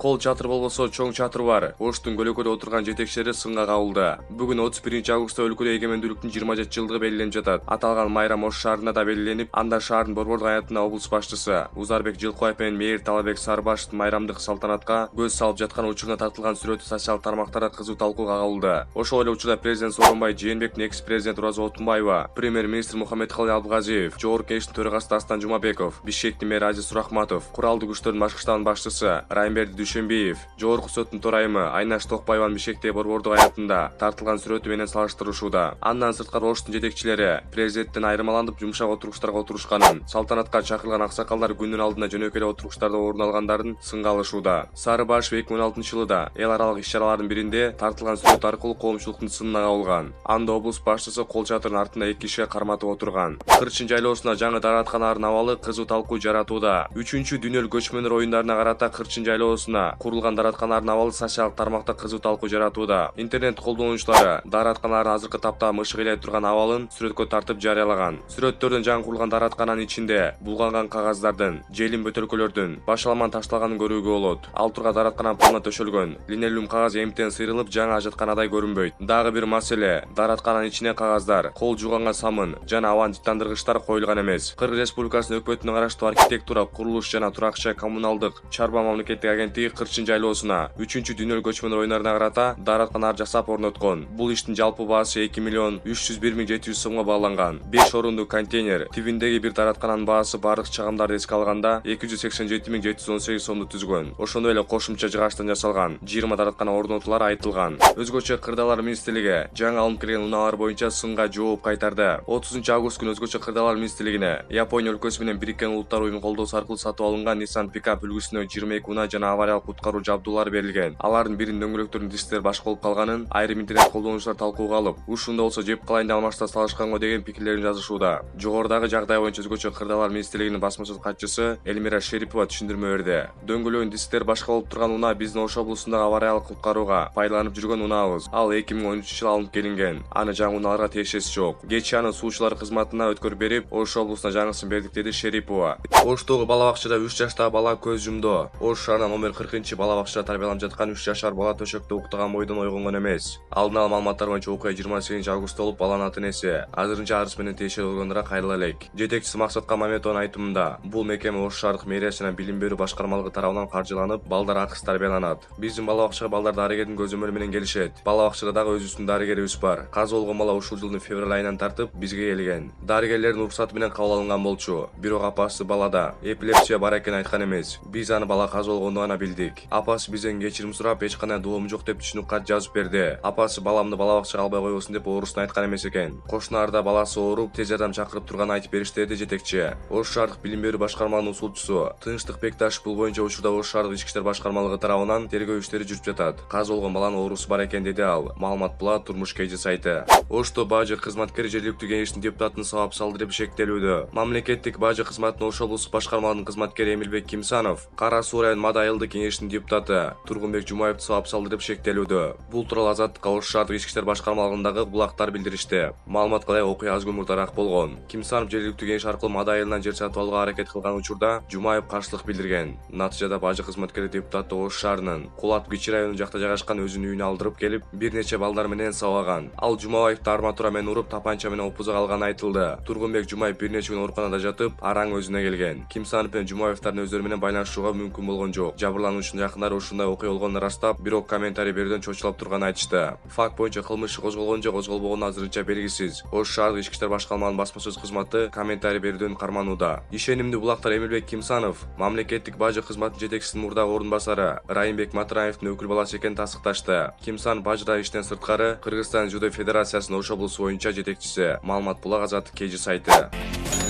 Кол чатыр болбосо чоң чатыр бар. Оштун көлөкөдө отурган жетекчилери сынга кабылды. Бүгүн 31-августта өлкөдө эгемендүүлүктүн 27-жылдыгы белгиленип жатат. Аталган майрам Ош шаарында да белгиленип, анда шаардын борбордук аянтында облус башчысы Узарбек Жылкыбаев менен мэр Талабек Сарыбашевдин майрамдык салтанатка көз салып жаткан учурунда тартылган сүрөтү социалдык тармактарда кызуу талкууга кабылды. Ошол эле учурда президент Сооронбай Жээнбектин экс-президент Роза Отунбаева, премьер-министр Мухаммедкалый Абылгазиев, Жогорку Кеңештин төрагасы Дастан Жумабеков, Бишкектин мэри Азиз Сурахматов, куралдык күчтөрдүн башкы штабынын башчысы Райымберди Дүйшөнбиев, Жогорку соттун төрайымы Айнаш Токпаеванын Бишкектеги борбордук аянтында тартылган сүрөтү менен салыштырышууда. Андан сырткары Оштун жетекчилери президенттен айырмаланып жумшак отургучтарга отурушканын, салтанатка чакырылган аксакалдар күндүн алдында жөнөкөй эле отургучтарда орун алгандарын сынга алышууда. Сарыбашев 2016-жылда эл аралык иш-чаралардын биринде тартылган сүрөт аркылуу коомчулуктун сынына кабылган. Анда облус башчысы кол чатырдын артында 2 кишиге карматып отурган. Кырчын жайлоосуна жаңы дааратканалардын абалы кызуу талкуу жаратууда. 3-дүнөлүк көчмөндөр оюндарына карата Кырчын жайлоосуна курулган дааратканалардын абалы социалдык тармакта кызуу талкуу жаратууда. Интернет колдонуучулары дааратканалардын азыркы тапта мышык илей турган абалын сүрөткө тартып жарыялаган. Сүрөттөрдөн жаңы курулган даараткананын ичинде булганган кагаздардын, желим бөтөлкөлөрдүн, башаламан ташталганын көрүүгө болот. Ал турган даараткананын полуна төшөлгөн. Линолеум кагаз эмтен сыйрылып жаңы ажатканадай көрүнбөйт. Дагы бир маселе, даараткананын ичине кагаздар, кол жууганга самын жана абан жыттандыргычтар коюлган эмес. Кыргыз Республикасынын өкмөтүнө караштуу архитектура, курулуш жана турак жай коммуналдык чарба мамлекеттик агенттиги Кырчын жайлоосуна 3-дүнөлүк көчмөндөр оюндарына карата дааратканалар жасап орноткон. Бул иштин жалпы баасы 2.301.700 сомго бааланган. 5 орунду контейнер, тибиндеги бир даараткананын баасы бардык чагымдарды эске алганда 287.718 сомду түзгөн. Ошондой эле кошумча жыгачтан жасалган 20 даараткана орнотулары айтылган. Өзгөчө кырдаалар министрлиги жаңы алынып келген унаалар боюнча сынга жооп кайтарды. 30-август күнү өзгөчө кырдаалар министрлигине Япония өлкөсү менен Бириккен Улуттар уюму колдоосу аркылуу сатып алынган Nissan пикап үлгүсүнө 22 унаа жана авариялык куткаруу жабдуулары берилген. Алардын биринин дөңгөлөктөрүнүн дисктери башка болуп калганын айрым интернет колдонуучулар талкууга алып, ушунда болсо жеп калайын деп алмашта салышканго деген пикирлерин жазышууда. Жогорудагы жагдай боюнча өзгөчө кырдаалар министрлигинин басмачыл катчысы Элмира Шерипова түшүндүрмө берди. Дөңгөлөгүнүн дисктери башка болуп турган унаа биздин Ош облусундагы авариялык куткарууга пайдаланып жүргөн унаабыз. Ал 2013-жылы алынып келинген. Аны жаңы унааларга тиешеси жок. Кечээ аны суучулар кызматына өткөрүп берип, Ош облусуна жаңысын бердик, деди Шерипова. Оштогу бала бакчада 3 жаштагы бала көз жумду. Ош шаарынын номер 40 бала бакчада тарбияланып жаткан 3 жашар бала төшөктө уктаган бойдон ойгонгон эмес. Алдын ала маалыматтар боюнча окуя 28-августта болуп, баланын ата-энеси азырынча арыз менен тиешелүү органдарга кайрыла элек. Жетекчиси Максатка Маметованын айтымында, бул мекеме Ош шаардык мэриясы жана билим берүү башкармалыгы тарабынан каржыланып, балдар акысыз тарбияланат. Биздин бала бакчага балдар дарыгердин көзөмөлү менен келишет. Бала бакчада дагы өзүбүздүн дарыгерибиз бар. Каза болгон бала ушул жылдын февраль айынан тартып бизге келген. Дарыгерлердин уруксаты менен кабыл алынган болчу. Бирок апасы балада эпилепсия бар экенин айткан эмес. Биз аны бала каза болгондо гана билдик. Апасы бизден кечирим сурап, эч кандай доому жок деп түшүнүк кат жазып берди. Апасы баламды бала бакчага албай койбосун деп оорусун айткан эмес экен. Кошуналарда баласы ооруп, тез жардам чакырып турганын айтып беришти, деди жетекчи. Ош шаардык билим берүү башкармалыгынын усулчусу Тынчтык Бекташев бул боюнча учурда Ош шаардык ички иштер башкармалыгы тарабынан тергөө иштери жүрүп жатат. Каза болгон баланын оорусу бар экен, деди ал. Маалымат Булат, Турмуш KG сайты. Ошто бажы кызматкери жергиликтүү кеңештин депутатын сабап салды деп шектелүүдө. Мамлекеттик бажы кызматынын Ош облустук башкармалыгынын кызматкери Эмилбек Кимсанов Кара Суу район Мада айылдык кеңештин депутаты Тургунбек Жумаевди сабап салды деп шектелүүдө. Бул тууралуу Азаттыкка Ош шаардык ички иштер башкармалыгындагы булактар билдиришти. Маалыматка ылайык окуя аз күн мурдараак болгон. Кимсанов жергиликтүү кеңеш аркылуу Мада айылынан жер сатып алууга аракет кылган учурда Жумаев каршылык билдирген. Натыйжада бажы кызматкери депутаты Ош шаарынын Кулат Кичи районунун жакта жайгашкан өзүнүн үйүнө алдырып келип, бир нече балдар менен сабаган. Ал Жумаевди арматура менен уруп, тапанча менен опуза алганы айтылды. Тургунбек Жумаев бир нече күн ооруканада жатып, араң өзүнө келген. Кимсанов менен Жумаевдардын өздөрү менен байланышууга мүмкүн болгон жок. Жабырлануучунун жакындары ушундай окуя болгонун ырастап, бирок комментарий берүүдөн чочулап турганын айтышты. Факт боюнча кылмыш иши козголгон же козголбогону азырынча белгисиз. Ош шаардык ички иштер башкармалыгынын басма-сөз кызматы комментарий берүүдөн карманууда. Ишенимдүү булактар Эмилбек Кимсанов мамлекеттик бажы кызматынын жетекчисинин мурдагы орун басары Райымбек Матраевдин өкүл баласы экенин тастыкташты. Кимсан бажыда иштен сырткары Кыргызстан Жудо Федерациясынын Ош облусу боюнча жетекчиси. Маалымат Булак, Азаттык KG сайты.